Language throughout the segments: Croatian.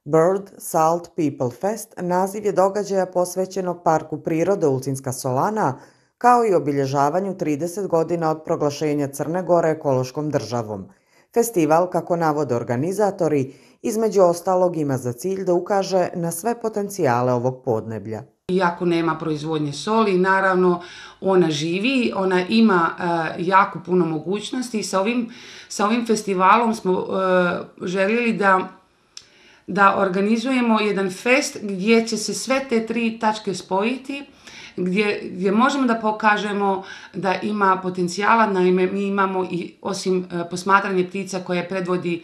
Bird Salt People Fest naziv je događaja posvećenog Parku prirode Ulcinska Solana, kao i obilježavanju 30 godina od proglašenja Crne Gore ekološkom državom. Festival, kako navode organizatori, između ostalog ima za cilj da ukaže na sve potencijale ovog podneblja. Iako nema proizvodnje soli, naravno ona živi, ona ima jako puno mogućnosti i sa ovim festivalom smo željeli da organizujemo jedan fest gdje će se sve te tri tačke spojiti, gdje možemo da pokažemo da ima potencijala. Naime, mi imamo i osim posmatranje ptica koje predvodi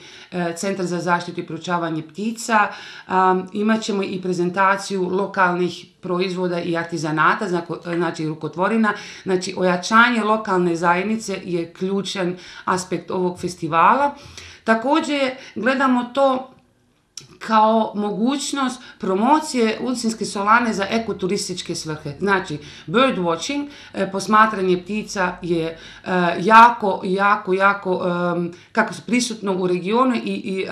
Centar za zaštitu i proučavanje ptica, imat ćemo i prezentaciju lokalnih proizvoda i artizanata, znači rukotvorina. Znači, ojačanje lokalne zajednice je ključan aspekt ovog festivala. Također gledamo to kao mogućnost promocije Ulcinske Solane za ekoturističke svrhe. Znači, bird watching, posmatranje ptica je jako kako su prisutno u regionu i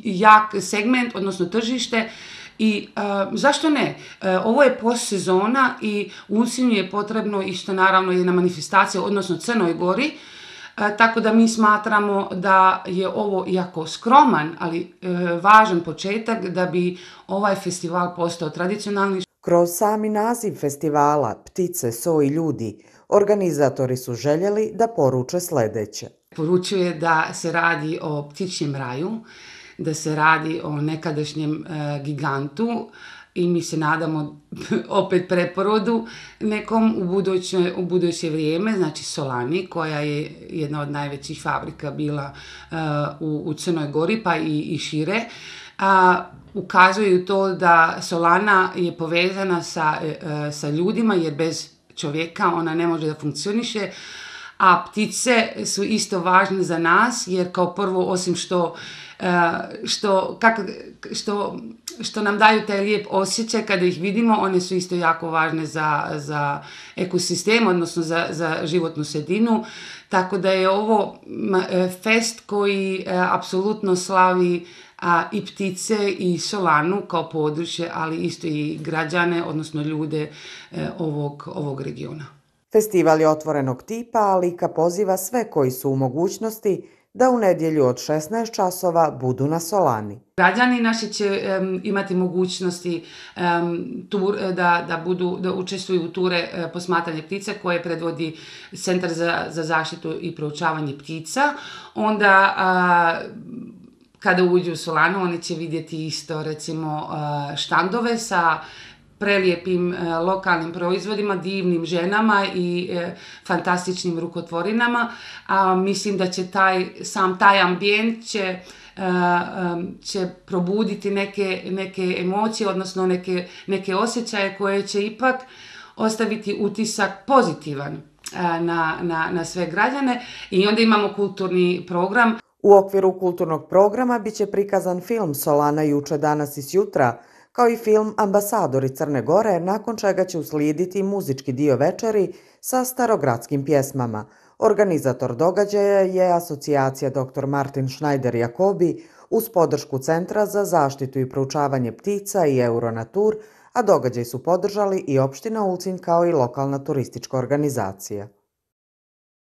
jak segment, odnosno tržište. I zašto ne? Ovo je postsezona i Ulcinju je potrebno isto naravno jedna manifestacija, odnosno Crnoj Gori. Tako da mi smatramo da je ovo jako skroman, ali važan početak da bi ovaj festival postao tradicionalni. Kroz sami naziv festivala Ptice, so i ljudi, organizatori su željeli da poruče sljedeće. Poručuje da se radi o ptičjem raju, da se radi o nekadašnjem gigantu, i mi se nadamo opet preporodu nekom u buduće vrijeme, znači Solani, koja je jedna od najvećih fabrika bila u Crnoj Gori pa i šire. Ukazuju to da Solana je povezana sa ljudima, jer bez čovjeka ona ne može da funkcioniše, a ptice su isto važne za nas, jer kao prvo, osim što nam daju taj lijep osjećaj kada ih vidimo, one su isto jako važne za ekosistem, odnosno za životnu sredinu. Tako da je ovo fest koji apsolutno slavi i ptice i Solanu kao područje, ali isto i građane, odnosno ljude ovog regiona. Festival je otvorenog tipa, a Lika poziva sve koji su u mogućnosti da u nedjelju od 16 časova budu na Solani. Građani naši će imati mogućnosti da učestvuju u ture posmatranja ptica koje predvodi Centar za zaštitu i proučavanje ptica. Onda kada uđu u Solanu oni će vidjeti isto recimo štandove sa prelijepim lokalnim proizvodima, divnim ženama i fantastičnim rukotvorinama. Mislim da će taj ambijent će probuditi neke emocije, odnosno neke osjećaje koje će ipak ostaviti utisak pozitivan na sve građane. I onda imamo kulturni program. U okviru kulturnog programa biće prikazan film Solana juče, danas i sjutra, kao i film Ambasadori Crne Gore, nakon čega će uslijediti muzički dio večeri sa starogradskim pjesmama. Organizator događaja je asocijacija Dr. Martin Schneider Jacobi uz podršku Centra za zaštitu i proučavanje ptica i Euronatur, a događaj su podržali i opština Ulcinj kao i lokalna turistička organizacija.